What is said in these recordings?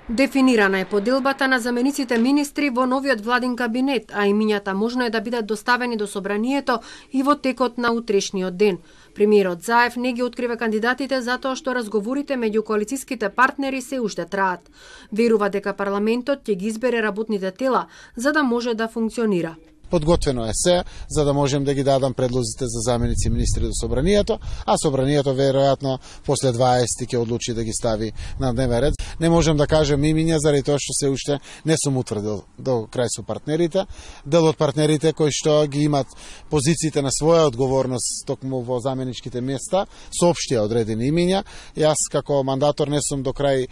Дефинирана е поделбата на замениците министри во новиот владин кабинет, а имињата можно е да бидат доставени до собранието и во текот на утрешниот ден. Премиерот Заев не ги открива кандидатите затоа што разговорите меѓу коалициските партнери се уште траат. Верува дека парламентот ќе ги избере работните тела за да може да функционира. Подготвено е се, за да можем да ги дадам предлозите за заменици министри до собранието, а собранието веројатно после 20 ќе одлучи да ги стави на дневен ред. Не можем да кажем имиња заради тоа што се уште не сум утврдил до крај со партнерите. Дел од партнерите кои што ги имат позициите на своја одговорност токму во заменичките места, соопштија одредени имиња. Јас како мандатор не сум до крај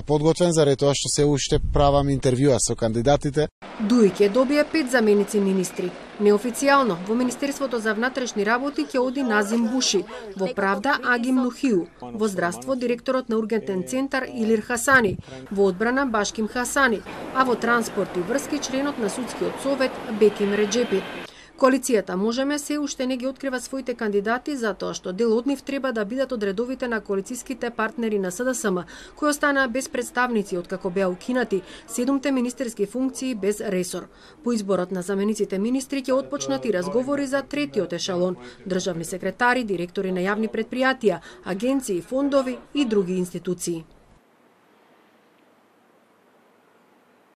подготвен заради тоа што се уште правам интервјуа со кандидатите. Дуи ќе добие 5 заменици министри. Неофицијално во Министерството за внатрешни работи ќе оди Назим Буши, во правда Агим Нухиу, во здравство директорот на ургентен центар Илир Хасани, во одбрана Башким Хасани, а во транспорт и врски членот на судскиот совет Беким Реджепи. Коалицијата Можеме се уште не ги открива своите кандидати затоа што дел од нив треба да бидат од редовите на коалициските партнери на СДСМ, кои останаа без представници откако беа укинати 7 министерски функции без ресор. По изборот на замениците министри ќе отпочнат и разговори за третиот ешалон, државни секретари, директори на јавни претпријатија, агенции, фондови и други институции.